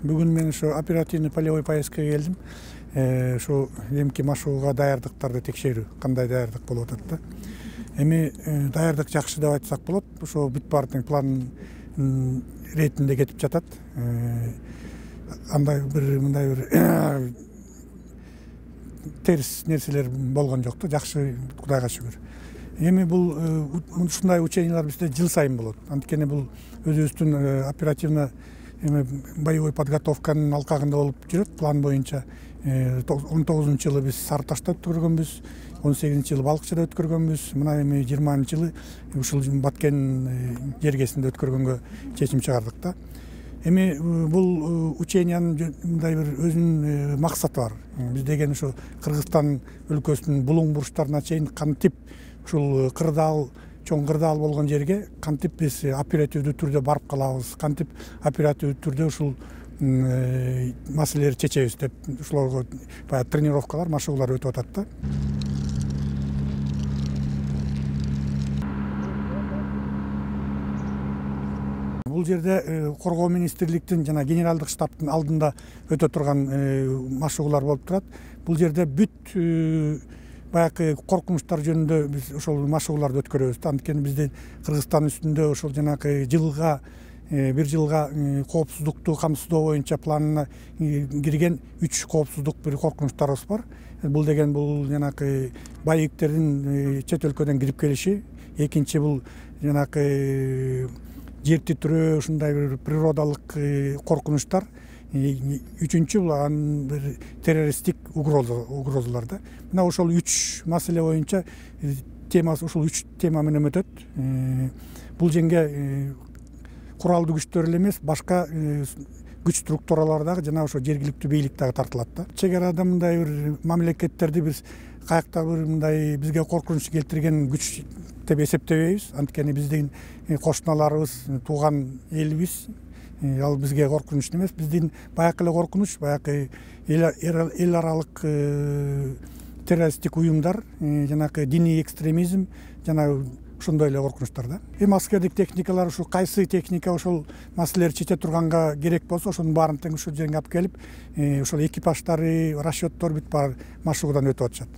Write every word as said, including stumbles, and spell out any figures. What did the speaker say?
Бүгүн мен ошо оперативный полевой поездкага келдим. Ошо эмки машыгууга даярдыктарды текшерүү, кандай даярдык болуп атат да. Эми даярдык жакшы деп айтсак болот. Ошо бүт баардык план иретинде кетип жатат. Андай бир мындай бир терс нерселер болгон жок да, жакшы, Кудайга шүгүр. Эми бул ушундай учениялар бизде жыл сайын болот. Анткени бул өзүбүздүн оперативно эми боевой подготовканын алкагында болуп жүрөт. План боюнча он тогузунчу жылы биз Сары Ташта өткөргөнбүз, он сегизинчи жылы Балыкчыда өткөргөнбүз. Мына эми жыйырманчы жылы ушул Баткен жергесинде өткөргөнгө чечим чыгардык да. Эми бул учениянын мындай бир өзүнүн максаты бар. Биз деген ушу Кыргызстан өлкөсүнүн булуң бурчтарына чейин кантип ушул кырдаал, чоң кырдаал болгон жерге кантип биз оперативдүү түрдө барып калабыз, кантип оперативдүү түрдө ушул маселелерди чечебиз деп ушуларга баягы тренировкалар, машыгуулар өтүп атат да. Бул жерде коргоо министрликтин жана генералдык штабтын алдында өтө турган машыгуулар болуп турат. Бул жерде бүт баягы коркунучтар жөнүндө биз ошол машыгууларды өткөрөбүз. Анткени биздин Кыргызстан үстүндө ошол жанагы жылга бир жылга коопсуздукту камсыздоо боюнча планына кирген үч коопсуздук бир коркунучтарыбыз бар. Бул деген бул жанагы боевиктердин чет өлкөдөн кирип келиши, экинчи бул жанагы жер титирөө, ушундай бир природалык коркунучтар, үчүнчү бул бир террористтик угрозалар да. Мына ошол үч маселе боюнча темасы ушул үч тема менен өтөт. Бул жерге куралдуу күчтөр эле эмес, башка күч структуралар дагы жана ошо жергиликтүү бийлик дагы тартылат да. Чек арада мындай бир мамлекеттерди биз каякта бир мындай бизге коркунуч келтирген күч деп эсептебейбиз. Анткени биздин кошуналарыбыз, тууган элибиз, ал бизге коркунуч эмес. Биздин баягы эле коркунуч, баягы эл аралык террористтик уюмдар, жанагы диний экстремизм жана ошондой эле коркунучтар да. Эми аскердик техникалар ушу кайсы техника ошол маселелерди чече турганга керек болсо, ошонун баарын тең ушул жерге алып келип, ошол экипаждары, расчеттор бүт баары машыгуудан өтүп атышат.